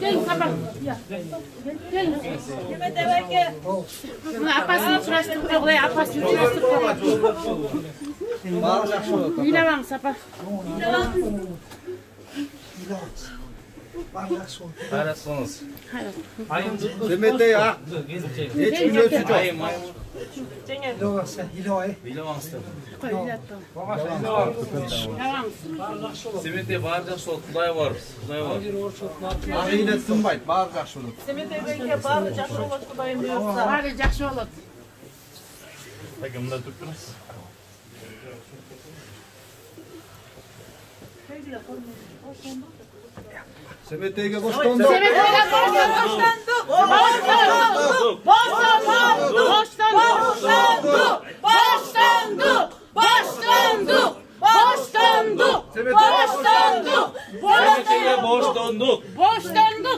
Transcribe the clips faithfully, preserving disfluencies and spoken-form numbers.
Gelin sabah. Gelin. Kime demek ki? Apasını sürastırıp koy, apasını sürastırıp koy. İyle var sabah. Parasınız. Demete ya. Hiç gün ölçü çok. Doğası, iloy. Bilemezsin. Koy, ile at. Semete barca sol, Kuday var. Kuday var. Ağıyla sınbaydı, bağır жақсы olur. Kime demek ki bağlı жақсы olur Kudayım diyorsa. Bari жақсы olur. Peki, bunda tuttunuz. Semete'ye boşlandı. Semete'ye boşlandı. Boşlandık. Boşlandı. Boşlandı. Boşlandı. Boşlandı. Boşlandı. Boşlandı. Semete'ye boş döndük. Boşlandı.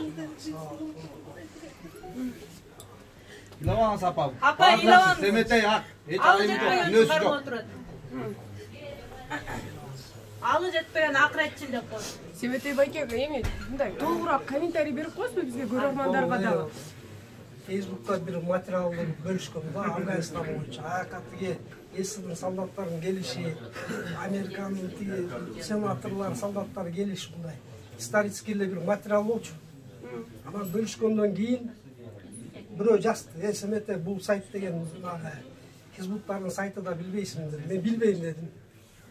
İlavan sapam. Apa ilavan. Semete'ye hak. Hiç Alı ayım yok. jetpegen Nösü çıkarma yok. oturadi. Alı жетпеген акыретчил деп коет. Семетей байке эми мындай толугураак комментарий берип коесузбу бизге көрөрмандарга дагы? Facebook'ta bir materialını bölüşkön da Afganistan boyunca. Hakatigi эсэдин солдаттарын келиши, Американын тиги сенаторлор, солдаттар келиши мындай исторический бир материал болчу. Анан бөлүшкөндөн кийин бирөө жазды. Э, Семете бул сайт деген Хизбуттардын сайты да билбейсиң деди. Мен билбейм дедим.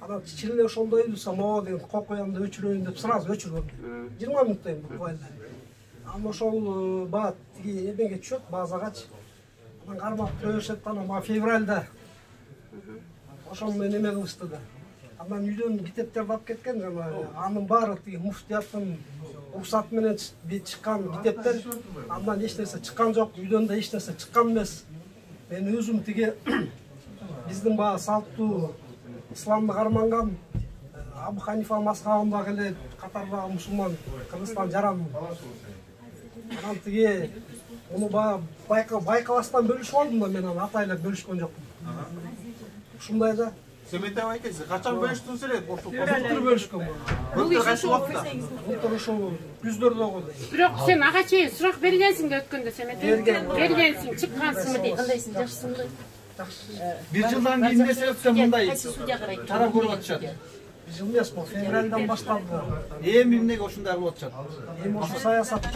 Анан чиле ошондой эле самоо деген кок коямды өчүрөйүн деп сразу өчүргөм. жыйырма мүнөттөн буквально. Анан ошол баат тиги эмеге түшөт, базагачы. Анан кармап көрүшөт, анан мага февралда ошол менен эме кылышты да. Анан үйдөн китептерди алып кеткен, жана анын баары тиги муфтияттын уруксаты менен чыккан китептер. Андан эч нерсе чыккан жок, үйдөн да эч нерсе чыккан эмес. Мен өзүм тиги биздин баа салттуу исламды карманган Абу Ханифа мазхабындагы эле катардагы мусулман Кыргызстан жаран. Анан тиги муну баа байкабастан бөлүшүп алдым да, мен аны атайлап бөлүшкөн жокмун. Ушундай да. Semete байке, сиз качан бөлүштүңүз эле? Былтыр бөлүшкөн бул. Былтыр кайсы убакта? Былтыр ошол күздөрдө койду. Бирок сен ага чейин сурак бергенсиң да өткөндө Семете. Бергенсиң, чыккансыңбы дейт. Кандайсың, жакшысыңбы? Бир жылдан кийин эмне себептен мындай тарап көрүп атышат? Бир жыл эмес, бул февралдан башталды. Эми эмнеге ушундай кылып атышат? Эми ошо саясат.